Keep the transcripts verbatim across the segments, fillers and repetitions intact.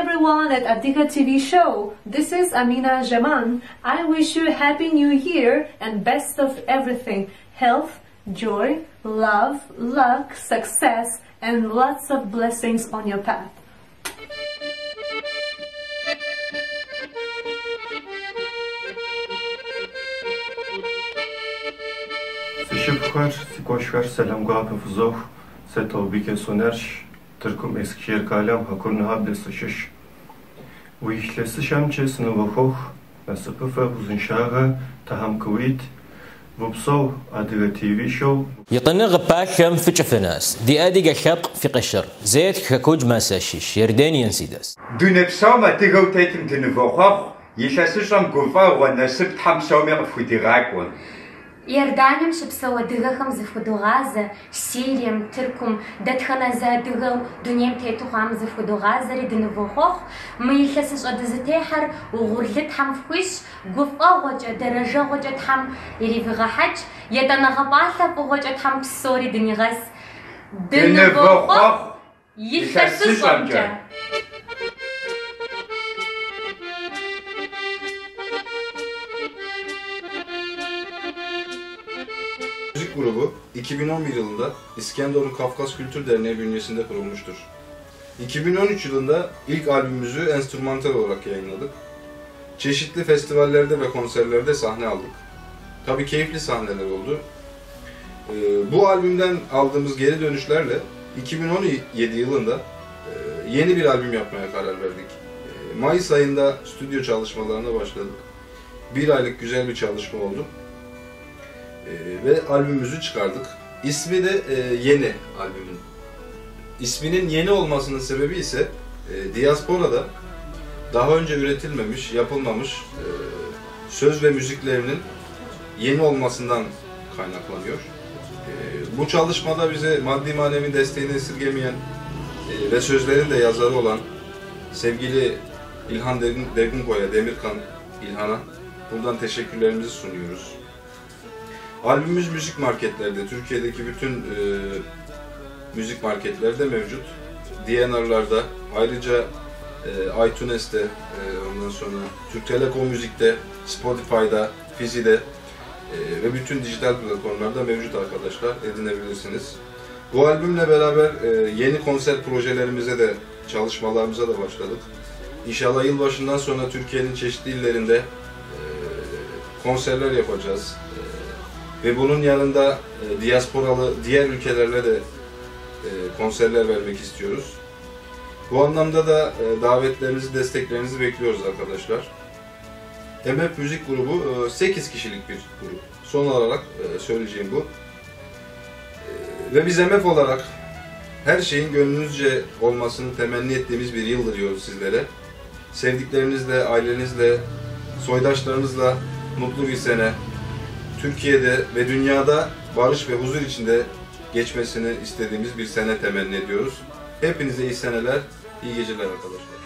everyone at Adika T V show. This is Amina Jaman. I wish you happy new year and best of everything. Health, joy, love, luck, success and lots of blessings on your path. Sişipxer, sikoşxer, selam guapı fuzox, setobike sonerş, Tırkum Eskişehir kalem hakurna habde sışış. Уилъэсыщэмкӏэ сынывохъуэхъу, насыпыфӏэ, узыншагъэ, Тхьэм къыуит, упсэу Адыгэ T V show. يطنغ باكم في جفناس، دي أديق الشق في قشر، زيت ككوج ما ساشيش، يردين ينسيدس. دون بسوم أديقو تيتم دنفوخوخ، يلسشم قفا ونسب تحمسوم يقفو ديغاكون. Иорданием щыпсэу адыгэхэм зыхудогъазэ, Сирием, Тыркум, дэтхэнэ зы адыгэу дунейм тету хъуам зыхудогъазэри дынывохъуэхъу. Мы илъэсыщӏэ дызытехьэр угъурлы Тхьэм фхуищӏ, гуфӏэгъуэкӏэ, дэрэжэгъуэкӏэ Тхьэм иривигъэхьэкӏ, етӏанэгъэ пӏалъэ фӏыгъуэкӏэ Тхьэм псори дынигъэс. Дынывохъуэхъу илъэсыщӏэмкӏэ! Müzik grubu iki bin on bir yılında İskenderun Kafkas Kültür Derneği bünyesinde kurulmuştur. iki bin on üç yılında ilk albümümüzü enstrümantal olarak yayınladık. Çeşitli festivallerde ve konserlerde sahne aldık. Tabii keyifli sahneler oldu. Ee, bu albümden aldığımız geri dönüşlerle iki bin on yedi yılında, e, yeni bir albüm yapmaya karar verdik. E, Mayıs ayında stüdyo çalışmalarına başladık. Bir aylık güzel bir çalışma oldu. Ee, ve albümümüzü çıkardık. İsmi de, e, Yeni albümün. İsminin yeni olmasının sebebi ise, e, diasporada daha önce üretilmemiş, yapılmamış, e, söz ve müziklerinin yeni olmasından kaynaklanıyor. E, bu çalışmada bize maddi manevi desteğini esirgemeyen, e, ve sözlerin de yazarı olan sevgili İlhan Dergunko'ya, Demirkan İlhan'a buradan teşekkürlerimizi sunuyoruz. Albümümüz müzik marketlerde, Türkiye'deki bütün, e, müzik marketlerde mevcut. D N R'larda, ayrıca, e, iTunes'te, e, ondan sonra Türk Telekom Müzik'te, Spotify'da, Fizi'de, e, ve bütün dijital platformlarda mevcut arkadaşlar, edinebilirsiniz. Bu albümle beraber, e, yeni konser projelerimize de, çalışmalarımıza da başladık. İnşallah yılbaşından sonra Türkiye'nin çeşitli illerinde, e, konserler yapacağız. Ve bunun yanında, e, diasporalı diğer ülkelerle de, e, konserler vermek istiyoruz. Bu anlamda da, e, davetlerinizi, desteklerinizi bekliyoruz arkadaşlar. M F Müzik Grubu, e, sekiz kişilik bir grup. Son olarak, e, söyleyeceğim bu. E, ve biz M F olarak her şeyin gönlünüzce olmasını temenni ettiğimiz bir yıl diliyoruz sizlere. Sevdiklerinizle, ailenizle, soydaşlarınızla mutlu bir sene, Türkiye'de ve dünyada barış ve huzur içinde geçmesini istediğimiz bir sene temenni ediyoruz. Hepinize iyi seneler, iyi geceler arkadaşlar.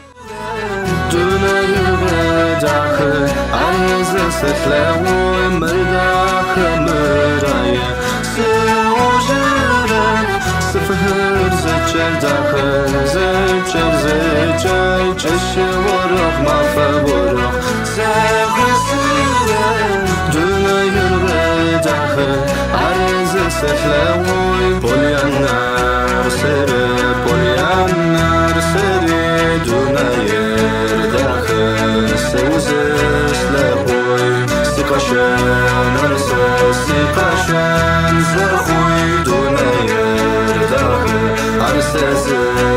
Sesi